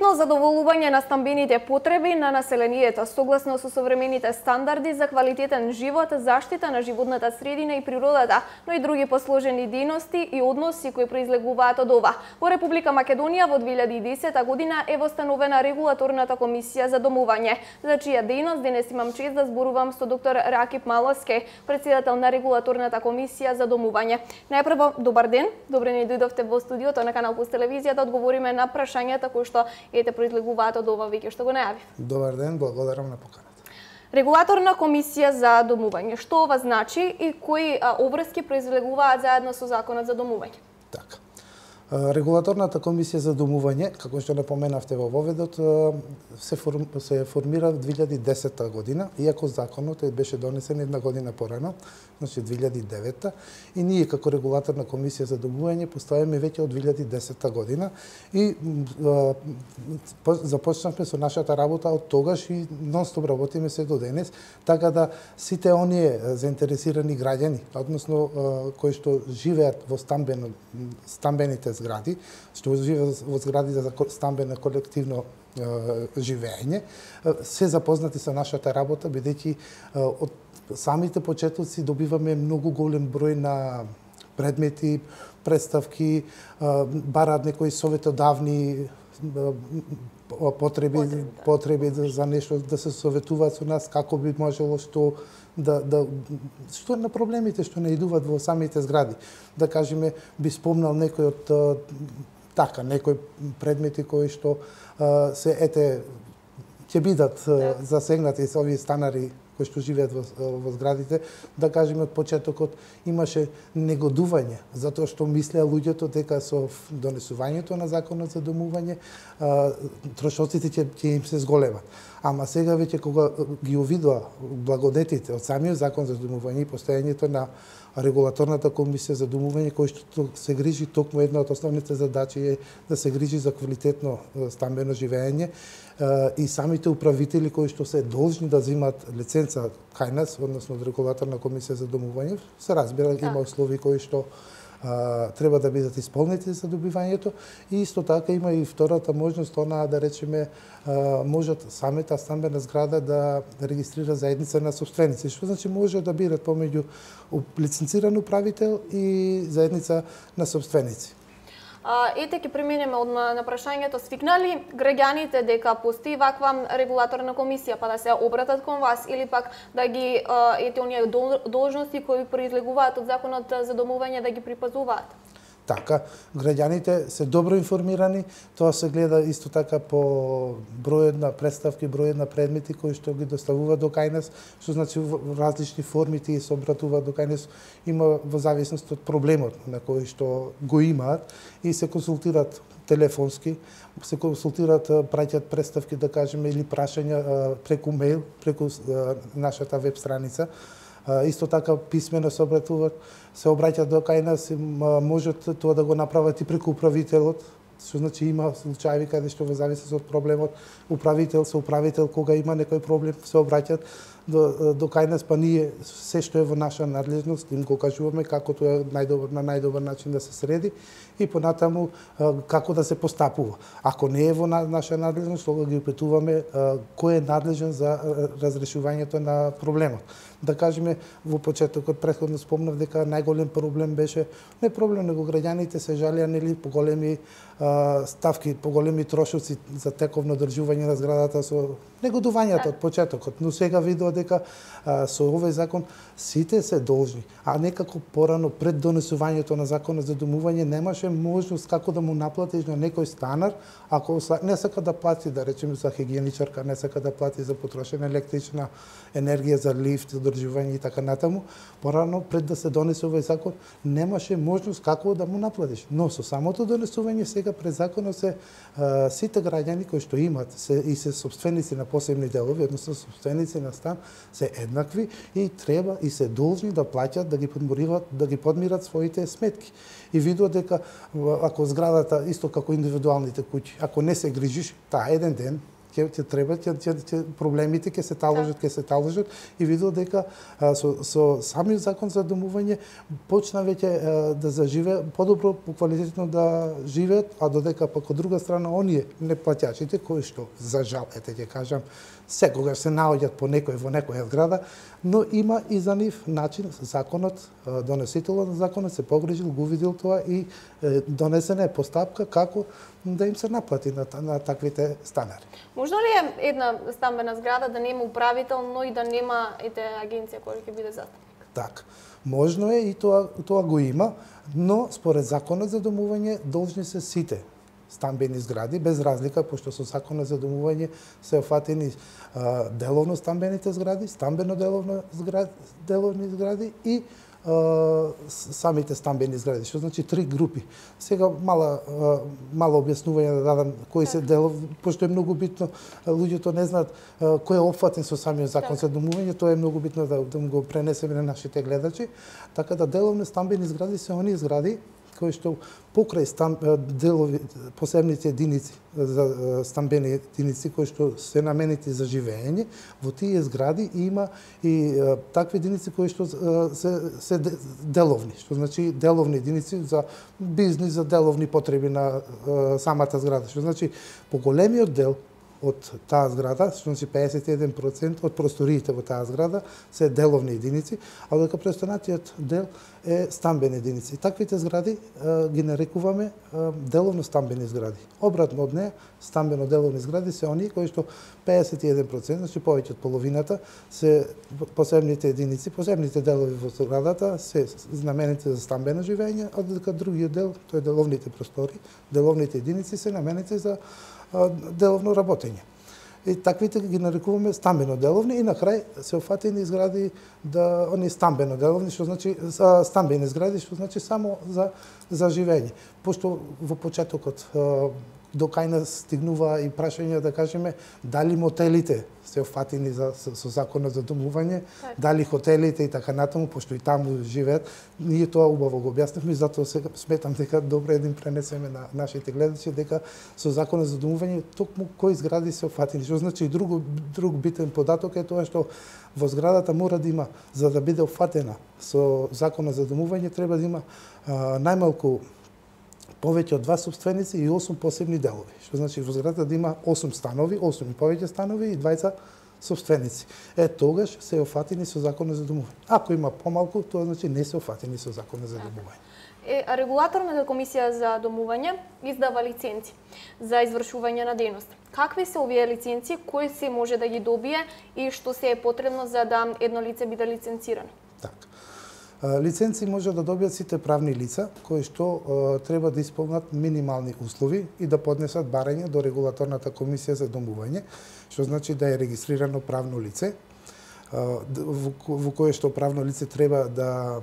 Квалитетно задоволување на стамбените потреби на населението согласно со современите стандарди за квалитетен живот, заштита на животната средина и природата, но и други посложени дејности и односи кои произлегуваат од ова. Во Република Македонија во 2010 година е востановена регулаторната комисија за домување, за чија дејност денес имам чест да зборувам со доктор Ракип Маловски, председател на регулаторната комисија за домување. Најпрво, добар ден, добре ни дојдовте во студиото на Канал Плюс телевизија да одговориме на прашањата кои што произлегуваат од ова веќе што го најавив. Добар ден, благодарам на поканата. Регулаторна комисија за домување. Што ова значи и кои обврски произлегуваат заедно со законот за домување? Така. Регулаторната комисија за домување, како што напоменавте во воведот, се формира во 2010 година, иако законот беше донесен една година порано, значи 2009, и ние како регулаторна комисија за домување постојаме веќе од 2010 година и започнавме со нашата работа од тогаш и нонстоп работиме се до денес, така да сите оние заинтересирани граѓани, односно кои што живеат во стамбените згради, што живеат во згради за стамбено колективно живење, се запознати со нашата работа, бидејќи од самите почетоци добиваме многу голем број на предмети, представки, бараат некои советодавни потреби за нешто, да се советуваат со нас како би можело што на проблемите што наидуваат во самите згради. Да кажеме, би спомнал некој од некои предмети кои што ќе бидат засегнати со овие станари кои што живеат во зградите, да кажеме од почетокот имаше негодување, затоа што мислеа луѓето дека со донесувањето на законот за домување трошоците ќе им се зголемат. Ама сега веќе кога ги увидоа благодетите од самиот закон за домување и постојањето на регулаторната комисија за домување, кој што се грижи токму една од основните задачи е да се грижи за квалитетно стамбено живење, и самите управители кои што се должни да земат лиценца кај нас, односно од регулаторна комисија за домување, се разбира, има услови кои што треба да бидат исполнети за добивањето, и исто така има и втората можност, она да речеме можат самата стамбена зграда да регистрира заедница на собственици, што значи може да бидат помеѓу лиценциран управител и заедница на собственици. Ете, ќе преминеме одма на прашањето. Свикнали граѓаните дека постои ваква регулаторна комисија, па да се обратат кон вас, или пак да ги оние должности кои произлегуваат од законот за домување да ги припазуваат? Така, граѓаните се добро информирани, тоа се гледа исто така по бројот на представки, бројот на предмети кои што ги доставуваат до кај нас, што значи во различни форми тие се обратуваат до кај нас, има во зависност од проблемот на кој што го имаат и се консултираат телефонски, се консултираат, праќаат представки, да кажеме, или прашања преку мејл, преку нашата веб страница. Исто така писмено се обраќаат до кај нас, можат тоа да го направат и преку управителот, што значи има случаи каде што во зависност од проблемот управител кога има некој проблем се обраќаат до кај нас, па ние се што е во наша надлежност им го кажуваме како тоа е на најдобар начин да се среди и понатаму како да се постапува. Ако не е во наша надлежност, тога ги упитуваме кој е надлежен за разрешувањето на проблемот. Да кажеме, во почетокот претходно спомнав дека најголем проблем беше не проблем, него граѓаните се жалеа нели по големи ставки, по големи трошоци за тековно одржување на зградата со негодувањето од почетокот, но сега видува дека со овој закон сите се должни, а некако порано пред донесувањето на законот за домување немаше можност како да му наплатиш на некој станар, ако не сака да плати, да речеме за хигиеничарка, не сака да плати за потрошена електрична енергија, за лифт, одржување и така натаму, порано пред да се донесе овој закон немаше можност како да му наплатиш. Но со самото донесување сега пред законот се сите граѓани кои што имат и се собственици на посебни делови, односно собственици на стан, се еднакви и треба и се должни да плаќаат, да ги подмират своите сметки. И видува дека ако зградата, исто како индивидуалните куќи, ако не се грижиш, таа еден ден ќе треба проблемите ќе се таложат и видел дека со самиот закон за домување почна веќе да заживе подобро, поквалитетно да живеат, а додека пак од друга страна оние неплаќачите кои што за жал ќе кажам секогаш се наоѓаат по некој во некоја зграда, но има и за нив начин законот, донесителот на законот се погрижил, го видел тоа и донесена е постапка како да им се наплати на таквите станари. Можно ли е една стамбена зграда да нема управител, но и да нема агенција која ќе биде застапник? Так, можно е и тоа го има, но според законот за домување должни се сите стамбени згради, без разлика, пошто со законот за домување се офатени деловно стамбените згради, стамбено деловни згради и самите стамбени згради, што значи 3 групи. Сега мало објаснување да дадам кои се делов, пошто е многу битно, луѓето не знаат кој е опфатен со самиот закон за домување, тоа е многу битно да го пренесеме на нашите гледачи. Така да деловни стамбени згради се оние згради кои што покрај делови, посебните единици за стамбени единици кои што се наменети за живење, во тие згради има и такви единици кои што се деловни, што значи деловни единици за бизнис, за деловни потреби на самата зграда, што значи поголемиот дел од таа зграда, што значи 51% од просториите во таа зграда се деловни единици, а додека преостанатиот дел е стамбени единици. Таквите згради ги нарекуваме деловно стамбени згради. Обратно од неа, стамбено деловни згради се оние кои што 51%, значи повеќе од половината, се посебните единици, посебните делови во зградата се наменети за стамбено живење, а додека другиот дел, тоа е деловните простори, деловните единици се наменети за деловно работење. И таквите ги нарекуваме стамбено деловни и на крај се офатени згради да они стамбено деловни, што значи стамбени згради, што значи само за живење. Пошто во почетокот до кај нас стигнува и прашање да кажеме дали мотелите се офатени со законот за домување, дали хотелите и така натаму, пошто и таму живеат. Ние тоа убаво го објаснивме, затоа сега сметам дека добро е да им пренесеме на нашите гледачи дека со законот за домување токму кои згради се офатени. Што значи друг битен податок е тоа што во зградата мора да има, за да биде офатена со законот за домување, треба да има најмалку повеќе од 2 собственици и 8 посебни делови. Што значи во зградата да има 8 станови, 8 и повеќе станови и 20 собственици. Тогаш се офатени со законот за домување. Ако има помалку, тоа значи не се офатени со законот за домување. Регулаторната комисија за домување издава лиценци за извршување на дејност. Какви се овие лиценци, кој се може да ги добие и што се е потребно за да едно лице биде лиценцирано? Така. Лиценци може да добијат сите правни лица кои што треба да исполнат минимални услови и да поднесат барање до регулаторната комисија за домување, што значи да е регистрирано правно лице, во кое што правно лице треба да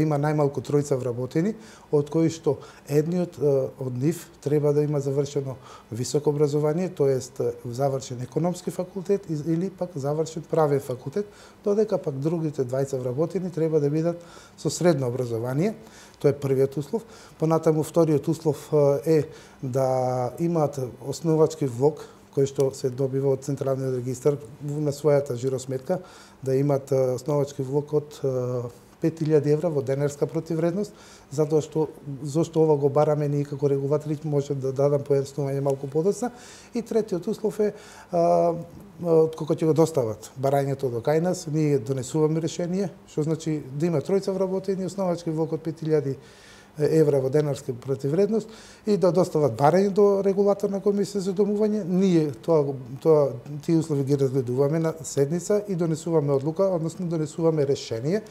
има најмалку 3 вработени, од кои што едниот од нив треба да има завршено високо образование, тоест завршен економски факултет или пак завршен правен факултет, додека пак другите 20 вработени треба да бидат со средно образование. Тоа е првиот услов. Понатаму вториот услов е да имаат основачки влог кој што се добива од Централниот регистар на својата жиросметка, да имат основачки влог од 5000 евра во денарска противвредност, затоа што зошто ова го бараме ние како регулатори, може да дадам појаснување малку подоцна. И третиот услов е кога ќе го достават барањето до кај нас, ние донесуваме решение, што значи да има 3 вработени, основачки влог од 5000 евра во денарска противвредност и да достават барање до регулаторна комисија за домување. Ние тие услови ги разгледуваме на седница и донесуваме одлука, односно донесуваме решение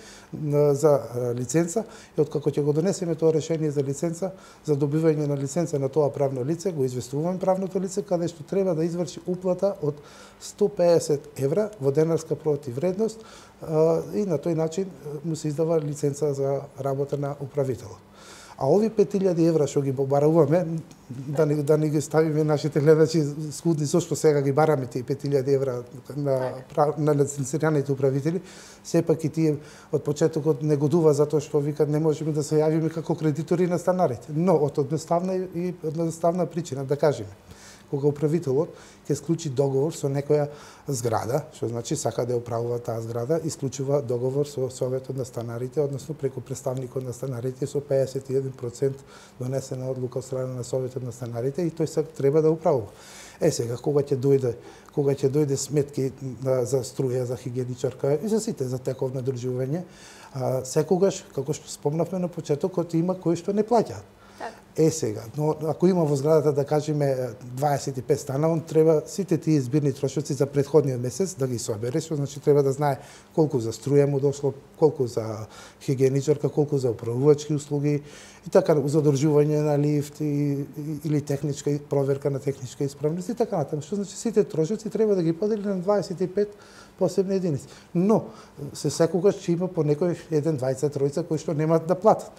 за лиценца и откако ќе го донесеме тоа решение за лиценца, за добивање на лиценца на тоа правно лице, го известуваме правното лице каде што треба да изврши уплата од 150 евра во денарска противвредност и на тој начин му се издава лиценца за работа на управителот. А ови 5000 евра што ги побаруваме, да не ги ставиме нашите гледачи скудни, зашто сега ги бараме тие 5000 евра на лиценцираните управители, сепак и тие од почетокот негодува затоа што викат не можеме да се јавиме како кредитори на станарите. Но од едноставна причина, да кажеме, кога управителот ќе склучи договор со некоја зграда, што значи сака да ја управува таа зграда, исклучува договор со Советот на станарите, односно преку представникот на станарите со 51% донесена одлука од страна на Советот на станарите и тој се треба да управува. Сега кога ќе дојде сметки за струја, за хигиеничарка и за сите за тековно одржување, секогаш, како што спомнавме на почетокот, има кои што не плаќаат. Сега, но ако има во зградата, да кажеме 25 стана, он треба сите тие збирни трошоци за претходниот месец да ги собере, што значи треба да знае колку за струја му дошло, колку за хигиеничарка, колку за управувачки услуги и така за одржување на лифт или техничка проверка на техничка исправност и така натаму. Што значи сите трошоци треба да ги подели на 25 посебни единици. Но се секогаш ќе има по некој 1, 2, 3 кои што немаат да платат.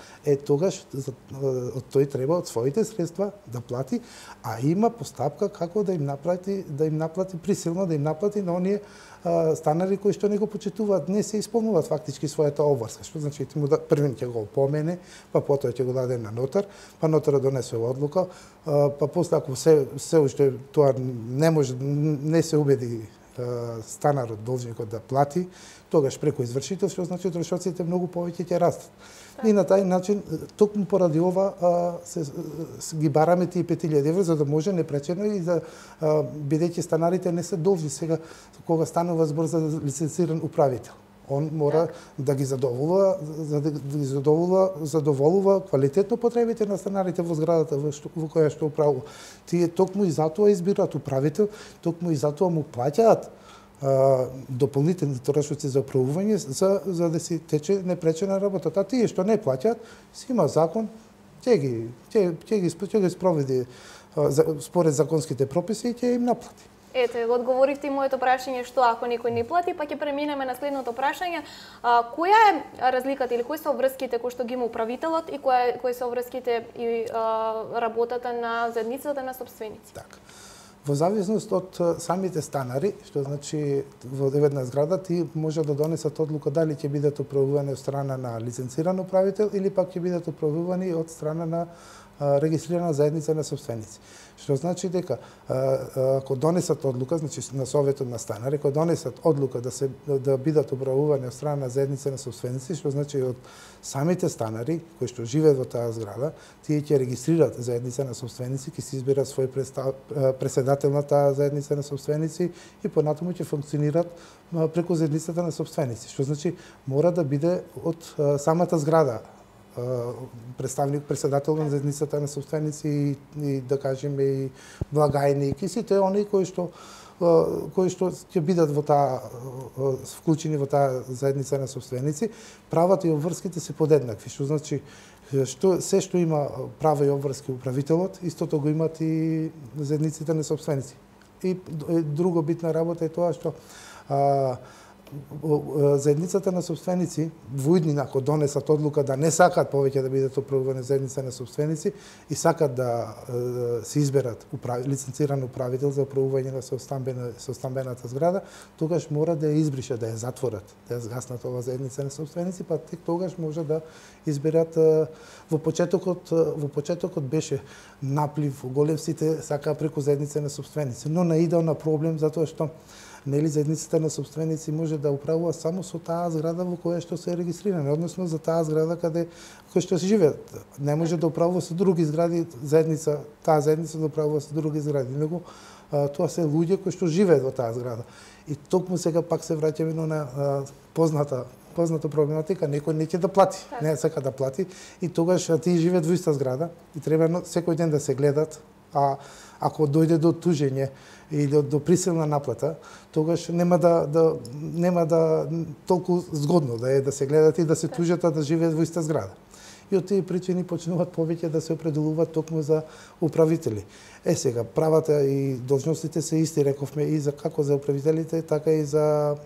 Тогаш од тој треба од своите средства да плати, а има постапка како да им наплати присилно, да им наплати на оние станари кои што не го почитуваат, не се исполнуваат фактички својата обврска. Што значи првен ќе го опомене, па потоа ќе го даде на нотар, па нотарот донесува одлука, па после ако се уште тоа не се убеди станарот, должникот да плати, тогаш преку извршител, што значи трошоците многу повеќе ќе растат. И на тај начин, токму поради ова, ги бараме тие 5000 евра, за да може непречено и за бидејќи станарите не се должни сега, кога станува збор за лицензиран управител. Он мора да ги задоволува квалитетно потребите на станарите во зградата во која што управува. Тие токму и затоа избираат управител, токму и затоа му плаќаат дополнителни трошоци за управување за да си тече непречена работата. А тие што не плаќаат, си има закон, ќе ги спроведи според законските прописи и ќе им наплати. Ете, одговоривте и моето прашање што ако некој не плати, па ќе преминеме на следното прашање. Која е разликата или кои се обврските кои што ги има управителот и кои се обврските и работата на заедницата на сопственици? Така. Во зависност од самите станари, што значи во една зграда, ти може да донесат одлука дали ќе бидат управувани од страна на лиценциран управител или пак ќе бидат управувани од страна на регистрирана заедница на сопственици. Што значи дека ако донесат одлука, значи на Советот на станари, ако донесат одлука да бидат управувани од страна на заедница на сопственици, што значи од самите станари кои што живеат во таа зграда, тие ќе регистрираат заедница на сопственици, ќе се изберат свој претседател на таа заедница на сопственици и понатаму ќе функционираат преку заедницата на сопственици. Што значи мора да биде од самата зграда председател на заедницата на сопственици и да кажеме и благајник и сите оние кои што ќе бидат во таа вклучени во таа заедница на сопственици, правата и обврските се подеднакви, што значи се што има права и обврски управителот, истото го имат и заедниците на сопственици. И друго битна работа е тоа што заедницата на сопственици во иднина ако донесат одлука да не сакаат повеќе да бидат управувани заедница на сопственици и сакаат да се изберат лиценциран управител за управување на стамбената зграда, тогаш мора да ја избрише, да ја затворат, да ја згаснат ова заедница на сопственици, па тек тогаш може да изберат. Во почетокот беше наплив, голем сите сакаа преку заедница на сопственици, но наидел на проблем затоа што нели заедницата на сопственици може да управува само со таа зграда во која што се регистрирани, односно за таа зграда која што се живеат. Не може да управува со други згради, таа заедница да управува со други згради, него тоа се луѓе кои што живеат во таа зграда. И токму сега пак се враќаме на позната проблематика, некој не ќе да плати, не сака да плати и тогаш тие живеат во иста зграда и треба секој ден да се гледат, а ако дојде до тужење или до присилна наплата, тогаш нема да толку згодно да се гледат и да се тужат, а да живеат во иста зграда. И од тие причини почнуваат повеќе да се определуваат токму за управители. Сега, правата и должностите се исти, рековме, и за како за управителите, така и за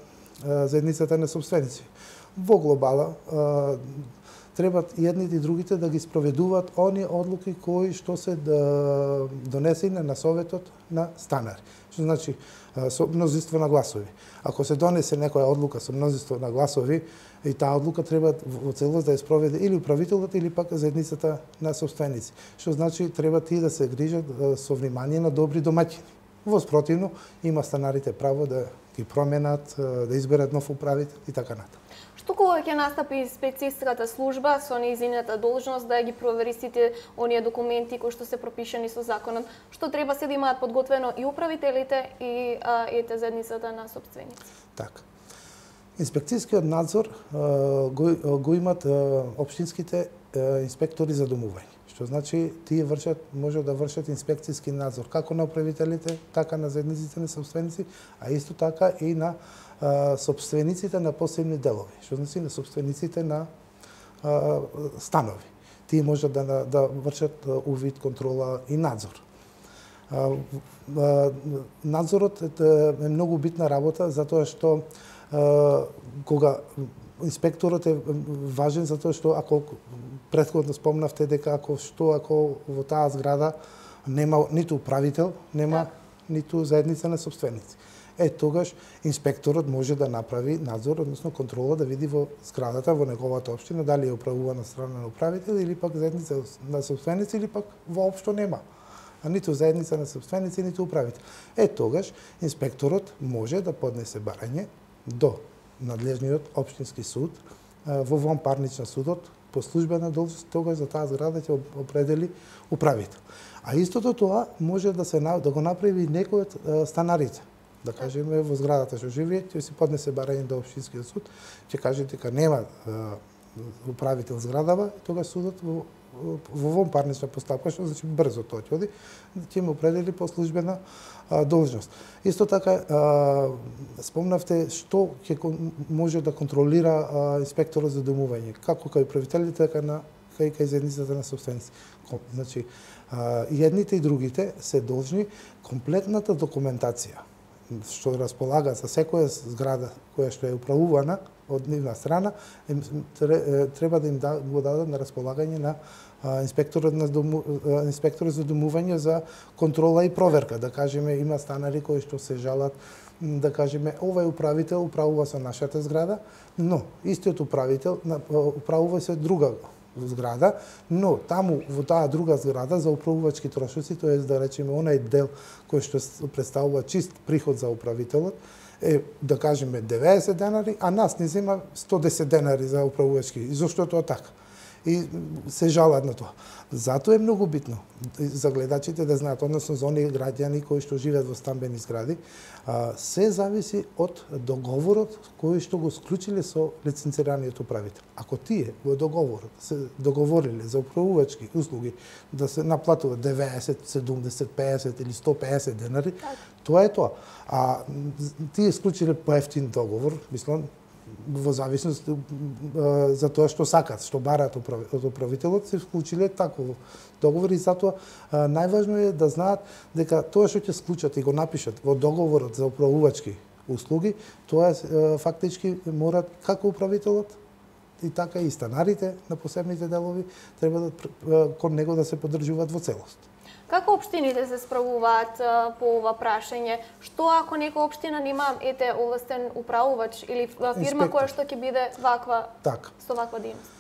заедницата на сопственици. Во глобала, треба едните и другите да ги спроведуваат оние одлуки кои што се донесени на советот на станари. Што значи со мнозинство на гласови. Ако се донесе некоја одлука со мнозинство на гласови, и таа одлука треба во целост да ја спроведе или управителот или пак заедницата на собственици. Што значи треба тие да се грижат со внимание на добри домаќини. Во спротивно има станарите право да ги променат, да изберат нов управител и така натаму. Што кога ќе настапи инспекцијската служба со нејзината должност да ги провери сите оние документи кои што се пропишани со законот, што треба се да имаат подготвено и управителите и заедницата на собственици? Така. Инспекцијскиот надзор го имат општинските инспектори за домување. Што значи тие може да вршат инспекцијски надзор како на управителите, така на заедниците на собственици, а исто така и на собствениците на посебни делови, што значи на собствениците на станови. Тие можат да вршат увид, контрола и надзор. Надзорот е многу битна работа затоа што кога инспекторот е важен затоа што ако претходно спомнавте дека ако во таа зграда нема ниту управител, нема ниту заедница на собственици. Тогаш инспекторот може да направи надзор, односно контрола, да види во зградата, во неговата општина, дали е управувана страна на управител или пак заедница на собственици или пак воопшто нема. А ниту заедница на собственици, ниту управител. Тогаш инспекторот може да поднесе барање до надлежниот општински суд во вонпарнична судот по службена должност, тогаш за таа зграда ќе определи управител. А истото тоа може да го направи некој од станарите. Да кажеме во зградата што живее, ќе си поднесе барање до општинскиот суд, ќе каже дека нема управител зградава, тогаш судот во вонпарнична постапка, што значи брзо тоа ќе оди, ќе му определи по службена должност. Исто така спомнавте што ќе може да контролира инспекторот за домување, како кај управителите, така кај заедницата на собственици. Значи и едните и другите се должни комплетната документација што располага за секоја зграда која што е управувана од нивна страна, треба да им го дадат на располагање на инспекторот за домување за контрола и проверка. Да кажеме, има станари кои што се жалат, да кажеме, овој управител управува со нашата зграда, но истиот управител управува со друга зграда, но таму во таа друга зграда за управувачки трошоци, тоест да речеме онај дел кој што представува чист приход за управителот, да кажеме 90 денари, а нас не зема 110 денари за управувачки. И зошто тоа така? И се жалат на тоа. Затоа е многу битно за гледачите да знаат, односно за оние граѓани кои што живеат во стамбени згради, се зависи од договорот кој што го склучиле со лиценцираниот управител. Ако тие во договорот се договориле за управувачки услуги да се наплатува 90, 70, 50 или 150 денари, тоа е тоа. А тие склучиле поевтин договор, мислам, во зависност за тоа што сакат, што бараат од управителот, се склучиле таков договор и затоа најважно е да знаат дека тоа што ќе склучат и го напишат во договорот за управувачки услуги, тоа фактички морат како управителот и така и станарите на посебните делови треба кон него да се поддржуваат во целост. Како општините се справуваат по ова прашање? Што ако некоја општина нема овластен управувач или фирма која што ќе биде со ваква дејност?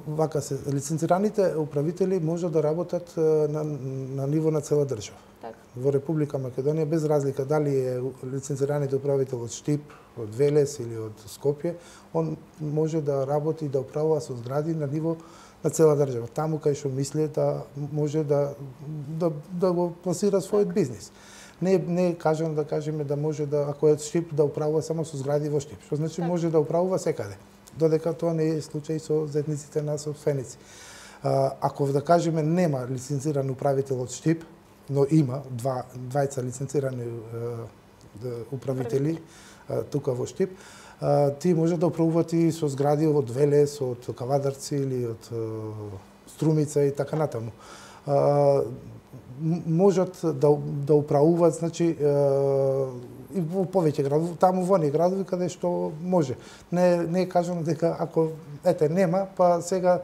Вака се, лиценцираните управители може да работат на ниво на цела држава. Во Република Македонија, без разлика дали е лиценцираниот управител од Штип, од Велес или од Скопје, он може да работи и да управува со згради на ниво на цела држава, таму кај што мисли да може да го пласира својот бизнис. Не кажам да кажеме да може да, ако е Штип, да управува само со згради во Штип, што значи може да управува секаде, додека тоа не е случај со заедниците на собственици. Ако да кажеме нема лиценциран управител од Штип, но има двајца лиценцирани управители тука во Штип, тие може да управуваат и со згради од Велес, од Кавадарци или од Струмица и така натаму. Можат да управуваат, значи, и во повеќе градови, таму во оние градови каде што може. Не е кажано дека ако нема, па сега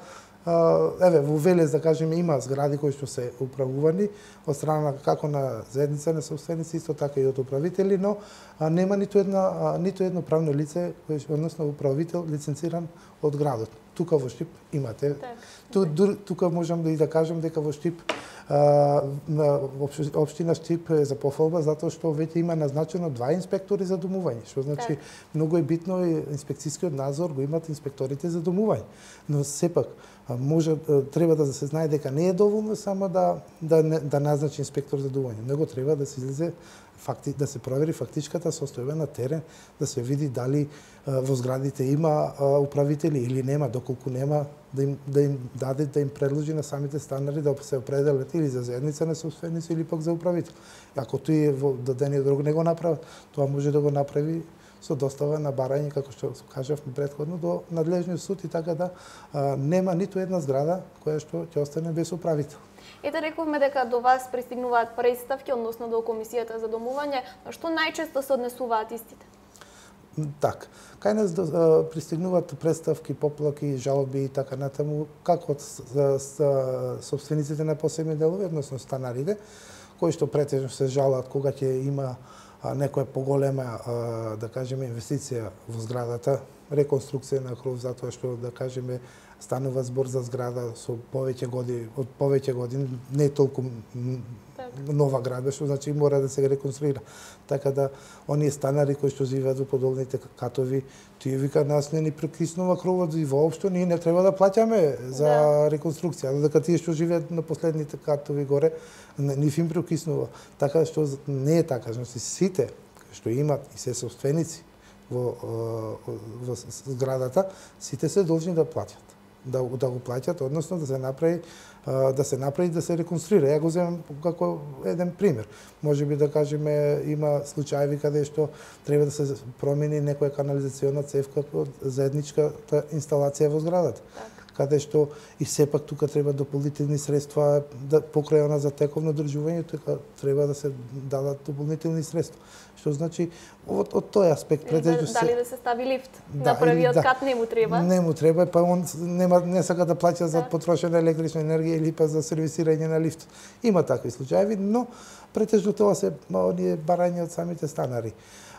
во Велес, да кажеме, има згради кои што се управувани од страна како на заедница на собственици, исто така и од управители, но нема ниту едно правно лице, односно управител лиценциран од градот. Тука во Штип имате. Тука можам да кажам дека во Штип општина Штип е за пофалба затоа што веќе има назначено 2 инспектори за домување, што значи многу е битно и инспекцијскиот надзор го имат инспекторите за домување. Но сепак треба да се знае дека не е доволно само да назначи инспектор за домување, него треба да се излезе да се провери фактичката состојба на терен, да се види дали во зградите има управители или нема, доколку нема да им даде, да им предложи на самите станари да се определат или за заедница на собственици или пак за управител. Ако тој во дадениот друг не го направи, тоа може да го направи со достава на барање, како што кажавме претходно, до надлежниот суд и така да нема ниту една зграда која што ќе остане без управител. Ете, рековме дека до вас пристигнуваат представки, односно до Комисијата за домување, што најчесто се однесуваат истите? Так, кај нас пристигнуваат представки, поплаки, жалби и така натаму, како од собствениците на посебни делови, односно станарите, кои што претежно се жалат кога ќе има некоја поголема, да кажеме, инвестиција во зградата, реконструкција на кров, затоа што, да кажеме, станува збор за зграда со од повеќе години, не толку нова градба, што значи мора да се реконструира. Така да, оние станари кои што живеат во подолните катови, тие вика, нас не ни прекиснува кровот и воопшто ние не треба да плаќаме за реконструкција, додека тие што живеат на последните катови горе, нив им прекиснува. Така што не е така, значи сите што имат и се собственици во зградата, сите се должни да платат. Да го плаќат, односно да се направи да се реконструира. Ја го земам како еден пример. Можеби да кажеме има случаи каде што треба да се промени некоја канализациона цевка од заедничката инсталација во зградата. Каде што и сепак тука треба дополнителни средства покрај она за тековно одржување, тука треба да се дадат дополнителни средства. Што значи од тој аспект претежно дали да се стави лифт на првиот кат не му треба. Не му треба, па он не сака да плаќа за потрошена електрична енергија или па за сервисирање на лифт. Има такви случаи, но претежно тоа се оние барања од самите станари.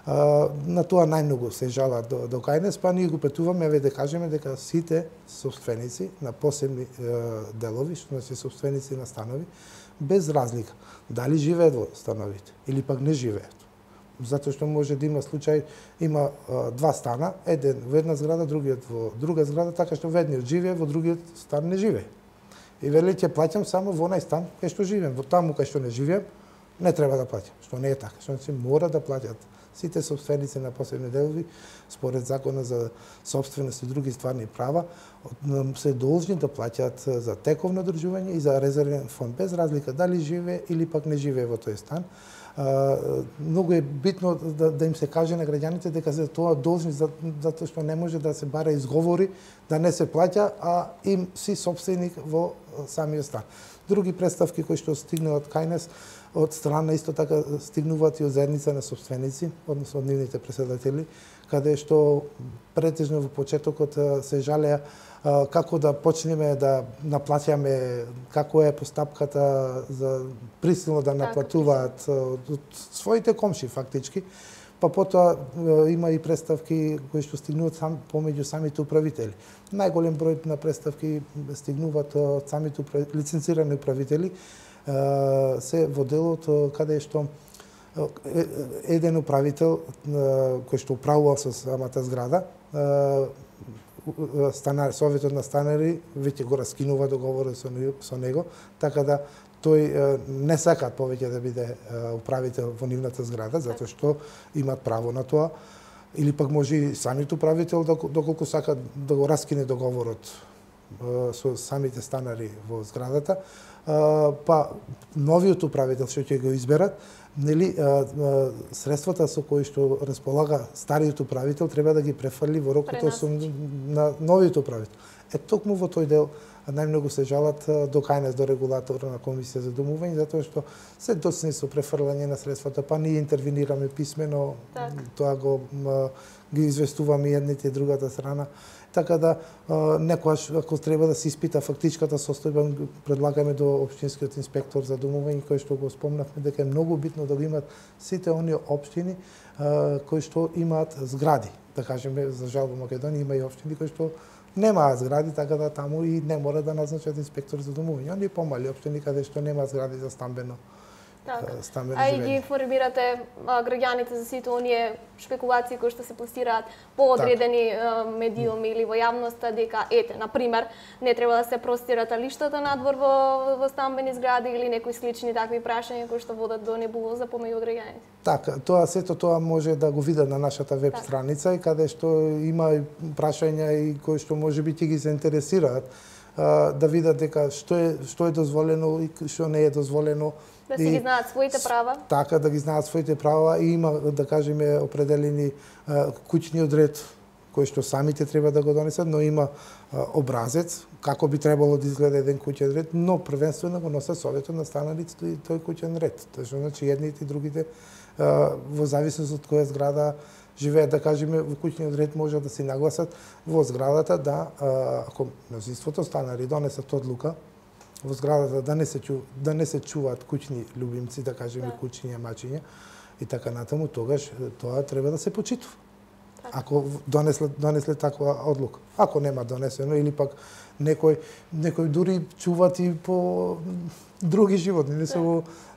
На тоа најмногу се жалат до кај нас, па ние го претуваме да кажеме дека сите собственици на посебни делови, што значи собственици на станови, без разлика дали живеат во становите или пак не живеат. Затоа што може да има случај, има 2 стана, еден во една зграда, другиот во друга зграда, така што во едниот живее, во другиот стан не живее. И вели ќе плаќам само во онај стан кај што живеам, во таму кај што не живеам, не треба да плаќам, што не е така, што се мора да плаќат сите собственици на посебни делови, според Законот за собственост и други стварни права, се должни да плаќаат за тековно одржување и за резервен фонд, без разлика дали живее или пак не живее во тој стан. Многу е битно да им се каже на граѓаните дека се тоа должни, затоа што не може да се бара изговори да не се плаќа, а им си собственик во самиот стан. Други представки кои што стигнуваат кај нас од страна исто така стигнуваат и од заедница на собственици, односно од нивните преседатели, каде што претежно во почетокот се жалеа како да почнеме да наплаќаме, како е постапката за присилно да наплатуваат од своите комши фактички, па потоа има и представки кои што стигнуваат помеѓу самите управители. Најголем број на представки стигнуваат од самите лиценцирани управители, се во делот каде што еден управител кој што управува со самата зграда, Советот на станари веќе го раскинува договорот со него, така да тој не сакаат повеќе да биде управител во нивната зграда, затоа што имаат право на тоа, или пак може и самиот управител доколку сака да го раскине договорот со самите станари во зградата, па новиот управител што ќе го изберат, нели средствата со кои што располага стариот управител треба да ги префрли во рокот на новиот управител. Токму во тој дел најмногу се жалат до кај нас, до регулатор на Комисија за домување, затоа што се доцни со префрлање на средствата, па ние интервенираме писмено, тоа ги известуваме едните и другата страна. Така да некојаш ако треба да се испита фактичката состојба, предлагаме до општинскиот инспектор за домување, кој што го спомнавме дека е многу битно да го имат сите оние општини кои што имаат згради. Да кажеме, за жал во Македонија има и општини кои што немаат згради, така да таму и не мора да назначат инспектор за домување. Оние помали општини каде што немаат згради за стамбено живење. А и ги информирате граѓаните за сите оние шпекулации кои што се пласираат по одредени медиуми или во јавноста дека на пример, не треба да се простират лиштата надвор во стамбени згради или некои слични такви прашања кои што водат до небулоза помеѓу граѓаните. Така, сето тоа може да го видат на нашата веб страница и каде што има прашања и кои што можеби ќе ги заинтересираат да видат дека што е дозволено и што не е дозволено. Да си ги знаат своите права. Така, да ги знаат своите права и има, да кажеме, определени куќниот ред кои што самите треба да го донесат, но има образец како би требало да изгледа еден куќен ред, но првенствено го носат советот на станарите тој куќен ред. Тоа што значи едните и другите во зависност од која зграда живеат, да кажеме, во куќниот ред може да се нагласат во зградата да ако мнозинството станари донесат одлука во зградата да не се чуваат куќни љубимци, да кажеме куќни мачиња и така натаму, тогаш тоа треба да се почитува. Ако донесле таква одлука. Ако нема донесено или пак некој дури чуваат и по други животни, не се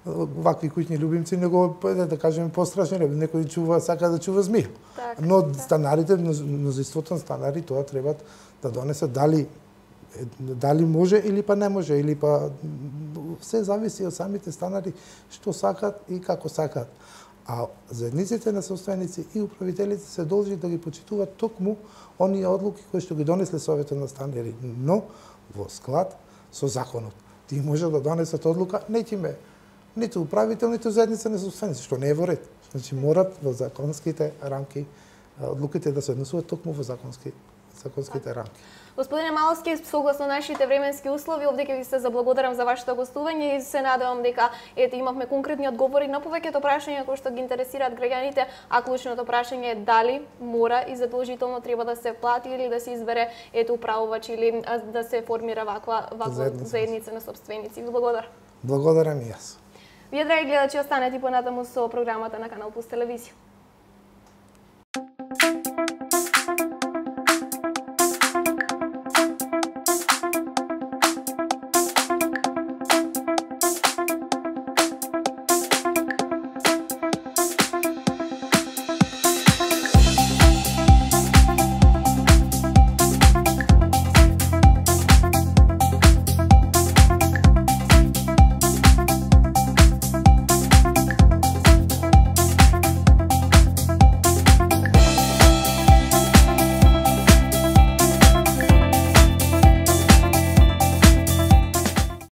вакви куќни љубимци, него да кажеме пострашни, некој сака да чува змија. Но станарите, мнозинството на станари тоа треба да донесат дали може или па не може, или па се зависи од самите станари што сакат и како сакат. А заедниците на собственици и управителите се должни да ги почитуваат токму оние одлуки кои што ги донесле Советот на станари, но во склад со законот. Тие може да донесат одлука, ниту управител, ниту заедница на собственици, што не е во ред. Значи морат во законските рамки одлуките да се однесуваат токму во законските рамки. Господине Маловски, согласно нашите временски услови, овде ќе ви се заблагодарам за вашето гостување и се надевам дека имавме конкретни одговори на повеќето прашања кои што ги интересираат граѓаните, а клучното прашање е дали мора и задолжително треба да се плати или да се избере управувач или да се формира ваква заедница на собственици. Ви благодарам. Благодарам и јас. Вие, драги гледачи, останете понатаму со програмата на Канал Плюс телевизија.